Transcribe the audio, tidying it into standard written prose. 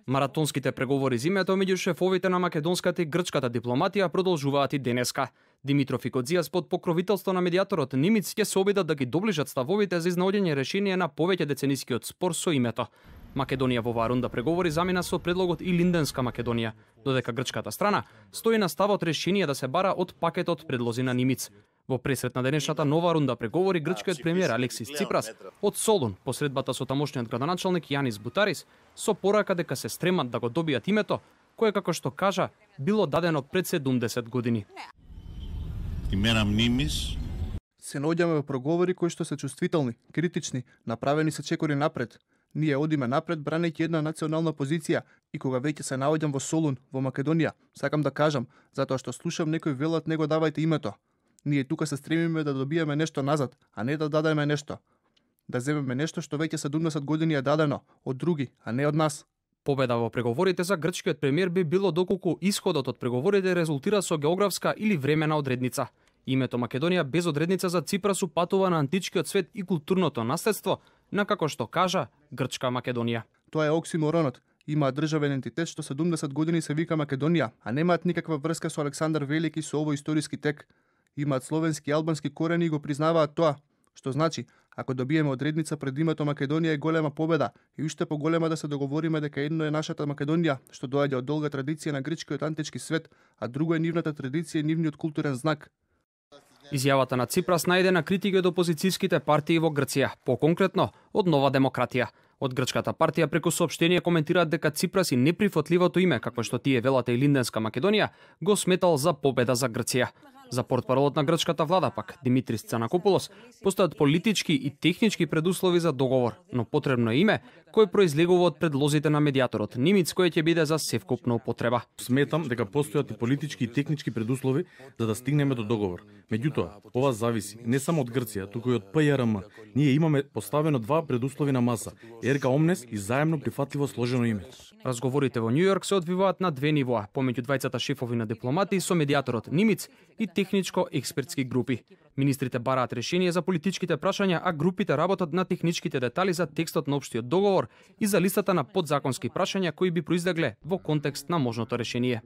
Маратонските преговори за името меѓу шефовите на македонската и грчката дипломатија продолжуваат и денеска. Димитров и Кодзијас под покровителство на медијаторот Нимиц ќе се обидат да ги доближат ставовите за изнаоѓање решение на повеќе деценискиот спор со името. Македонија во оваа рунда преговори замина со предлогот и Линденска Македонија, додека грчката страна стои на ставот решение да се бара од пакетот предлози на Нимиц. Во пресрет на денешната нова рунда преговори грчкиот премиер Алексис Ципрас од Солун по средбата со тамошниот градоначалник Јанис Бутарис со порака дека се стремат да го добијат името кое, како што кажа, било дадено пред 70 години. Имена Нимис се наоѓаме во проговори кои што се чувствителни, критични, направени се чекори напред. Ние одиме напред бранејќи една национална позиција и кога веќе се наоѓам во Солун, во Македонија, сакам да кажам, затоа што слушам некои велат него давајте името. Ние тука се стремиме да добиеме нешто назад, а не да дадеме нешто. Да земеме нешто што веќе 70 години е дадено од други, а не од нас. Победа во преговорите за грчкиот премиер би било доколку исходот од преговорите резултира со географска или времена одредница. Името Македонија без одредница за Ципрас упатува на античкиот свет и културното наследство, на како што кажа Грчка Македонија. Тоа е оксиморонот. Имаат државен ентитет што 70 години се вика Македонија, а немаат никаква врска со Александар Велики со овој историски тек. Имаат словенски и албански корени и го признаваат тоа, што значи, ако добиеме одредница пред името Македонија е голема победа и уште поголема да се договориме дека едно е нашата Македонија, што доаѓа од долга традиција на грчкиот антички свет, а друго е нивната традиција и нивниот културен знак. Изјавата на Ципрас најде на критики од опозицијските партии во Грција, поконкретно од Нова демократија. Од грчката партија преку соопштение коментираат дека Ципрас и неприфатливото име, како што тие велате и Линденска Македонија, го сметал за победа за Грција. За портпаролот на грчката влада пак, Димитрис Цанакопулос, постојат политички и технички предуслови за договор, но потребно е име кој произлегува од предлозите на медијаторот Нимиц, кој ќе биде за севкупна употреба. Сметам дека постојат и политички и технички предуслови за да стигнеме до договор. Меѓутоа, ова зависи не само од Грција, туку и од ПЈРМ. Ние имаме поставено два предуслови на маса: Ерга Омнес и заемно прифатливо сложено име. Разговорите во Њујорк се одвиваат на две нивоа, помеѓу двајцата шефови на дипломати со медијаторот Нимиц и техничко-експертски групи. Министрите бараат решение за политичките прашања, а групите работат на техничките детали за текстот на општиот договор и за листата на подзаконски прашања кои би произлегле во контекст на можното решение.